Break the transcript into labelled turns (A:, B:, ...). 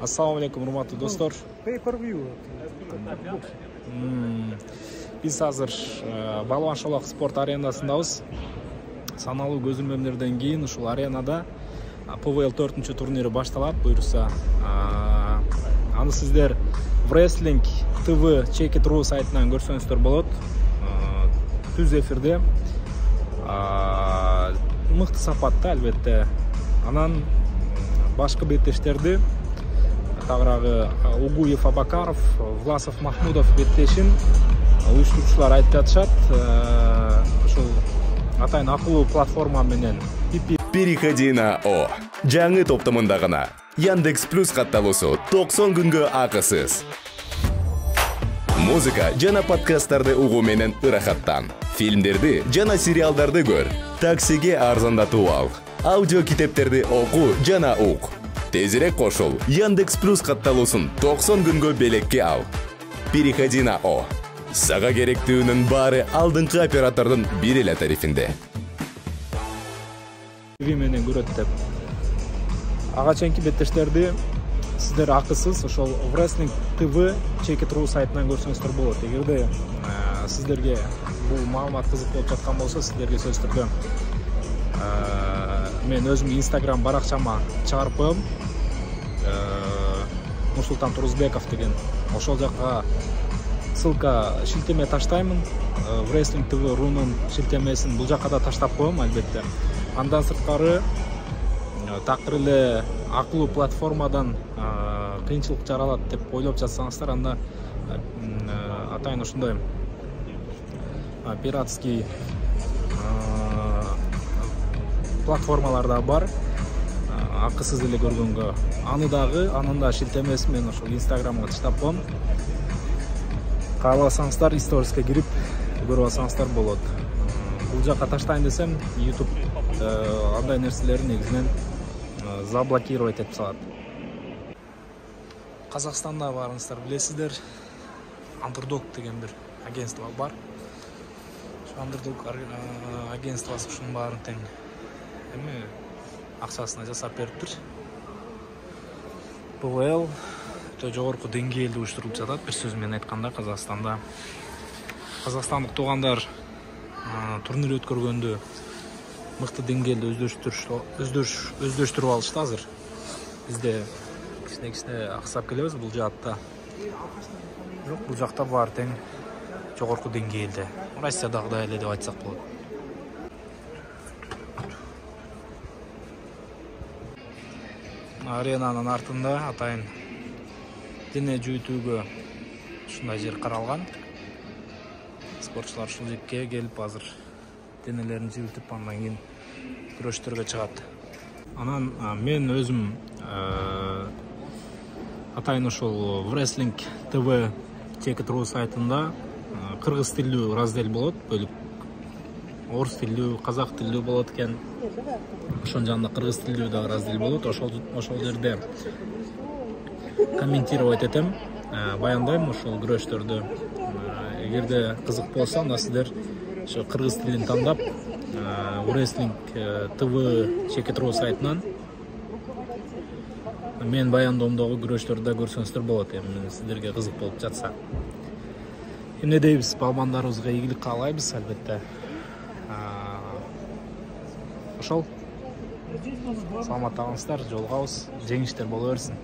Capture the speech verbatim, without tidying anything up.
A: Ассаламу алейкум, урматтуу достор.
B: Pay-per-view.
A: Биз азыр Балуан Шолак спорт аренасындабыз. Саналуу көзөмөлдөрдөн кийин ушул аренада пэ вэ эл төртүнчү турнири башталат. Буюрса, аны сиздер Wrestling тэ вэ Check It.ru сайтынан көрсөңүздөр болот. Түз эфирде мыкты сапатта, албетте. Анан башкы беттештерди тагыраагы Угуев Абакаров, Власов Махмудов беттешин уюштуруучулар айтып жатышат. Ушул атайын акылуу платформа менен
C: Переходи на О. Жаңы топтомунда гана Яндекс Плюс катталуусу токсон күнгө акысыз. Музыка жана подкасттарды угуу менен ырахаттан. Фильмдерди жана сериалдарды көр. Таксиге арзандатуу ал. Аудио китептерди окуу жана ук. Тезирээк кошул. Яндекс Плюс катталуусун токсон күнгө белекке ал. Переходи на О. Сага керектүүнүн баары алдыңкы оператордун бир эле тарифинде.
A: ви менен көрөт деп. Ага чейинки беттештерди сиздер акысыз ошол Wrestling тэ вэ Check It.ru сайтынан көрсөңүздөр болот. Эгерде сиздерге бул маалымат кызык болуп жаткан болсо, сиздерге сөзсүз түрдө мен өзүмдүн Instagram баракчама чыгарып коем. Нурсултан Турузбеков деген. Ошол жакка ссылка шилтеме таштаймын. Wrestling тэ вэ рунун шилтемесин бул жакка да таштап коем, албетте. Андан сырткары такыр эле акылуу платформадан кыйынчылык жаралат деп ойлоп жатсаңыздар, анда атайын ушундай пиратский платформалар да бар. Акысыз эле көргөнгө. Аны дагы, анын да шилтемесин мен ошол Instagramга таштап коем. Кааласаңыздар, сториске кирип көрүп алсаңыздар болот. Бул жакка таштайын десем, YouTube андай нерселерди негизинен заблокировать этип салат. Казакстанда барыңыздар билесиздер, Underdog деген бир агентство бар. Ошо Underdog агентствосы ушунун баарын тең эми акчасына жасап бериптир. пэ вэ эл өтө жогорку деңгээлде уюштурулуп жатат. Бир сөз менен айтканда, Казакстанда казакстандык туугандар турнир өткөргөндө мыкты деңгээлде өздөштүрүп алышты азыр. Бизде кичине-кичине аксап келебиз бул жаатта. Бирок бул жакта баары тең жогорку деңгээлде. Россиядагыдай эле деп айтсак болот. Аренанын артында атайын дене жүйүтүүгө ушундай жер каралган. Спортчулар ушул жерге келип азыр денелерин жибитип, андан кийин күрөштөргө чыгат. Анан мен өзүм атайын ошол Wrestling тэ вэ Check It.ru сайтында кыргыз тилдүү раздел болот, бөлүп. Орус тилдүү, казак тилдүү болот экен. Ошонун жанында кыргыз тилдүү да раздел болот. Ошол ошол жерде комментировать этем, баяндайм ошол күрөштөрдү. Эгерде кызык болсо, анда сиздер ошо кыргыз тилин тандап, Wrestling тэ вэ Check It.ru сайтынан мен баяндоомдогу күрөштөрдү да көрсөңүздөр болот, эми сиздерге кызык болуп жатса. Эмне дейбиз, балбандарыбызга ийгилик каалайбыз, албетте. Ошол. Саламат калыңыздар, жолугабыз, жеңиштер боло берсин.